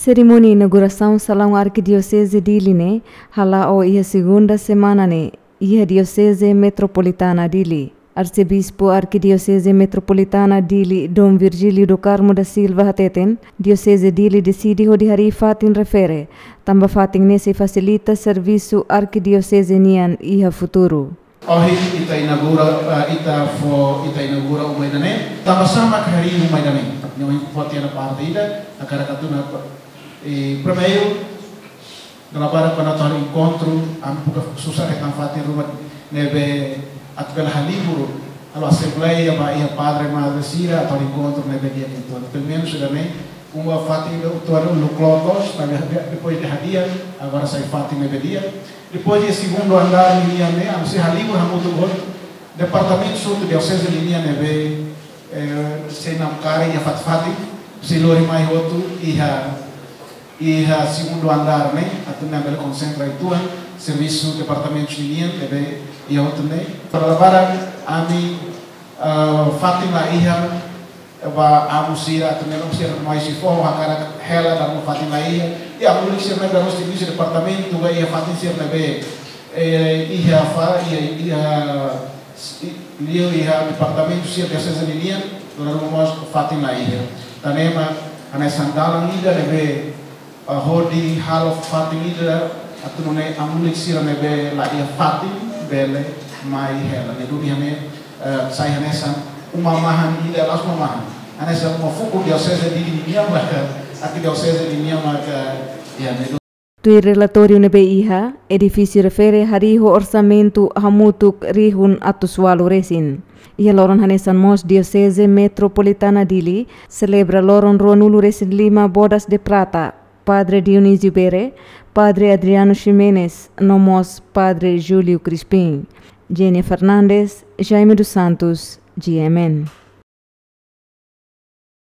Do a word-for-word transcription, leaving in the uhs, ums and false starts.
Serimónia inaugurasaun Salaun Arkidioseze Dili ne'e hala'o iha segunda semana ne'e iha Dioseze Metropolitana Dili. Arsebispu Arkidioseze Metropolitana Dili, Dom Virgílio do Carmo da Silva hateten, Dioseze Dili deside hodi harii fatin refere, tanba fatin ne'e sei fasilita servisu arkidioseze nian iha futuru. Ohin ita inaugura, eh, ita fó, ita inaugura uma ida-ne'e. Tanba sá mak harii uma ida-ne'e? Nia ohin fó tiha ona parte ida, hakarak atu hatún, eh, primeiru, dala barak kuandu atu halo enkontru, ami buka susar hetan fatin ruma ne'ebé atu bele halibur, halo asembleia ba iha padre madre sira atu halo enkontru ne'ebé di'ak uitoan. Pelumenus ida-ne'e, uma fatin ida uitoan uluk loos, maibé depois de hadi'a, agora sai fatin ne'ebé di'ak. Depois iha segundu andár ninian ne'e, ami sei halibur hamutuk ho departamentu hotu dioseze ninian ne'ebé, eh, sei namkari iha fatin-fatin, sei lori mai hotu iha, iha segundu andár ne'e, atu nune'e bele konsentra uitoan servisu departamentu ninian ne'ebé iha hotu ne'e. Para labaran ami, ah, fatin la iha, ba amu sira atu nune'e sira mai sei fó, hakarak hela dala ruma fatin la iha. I amu lulik sira ne'ebé mós servisu departamentu ba iha fatin sira ne'ebé, eh, iha fa, iha, iha, i-, liu iha departamentu sira dioseze ninian, dala ruma mós fatin la iha. Tan ne'e mak hanesan dalan ida ne'ebé, ah, hodi halo fatin ida atu nune'e amu lulik sira ne'ebé la iha fatin bele mai hela. Ne'e duni hanesan, eh, sai hanesan uma mahan ida, la'ós uma mahan. Hanesan uma fuku dioseze Dili ninian maka, arkidioseze ninian maka, iha ne'e duni. Tuir relatóriu ne'ebé iha, edifísiu refere harii ho orsamentu hamutuk rihun atus ualu resin. Iha loron hanesan mós Dioseze Metropolitana Dili selebra loron ruanulu resin lima Bodas de Prata, Padre Dionísio Bere, Padre Adriano Ximenes, no mós Padre Júlio Crispim. Genia Fernandes, Jaime dos Santos, G M N.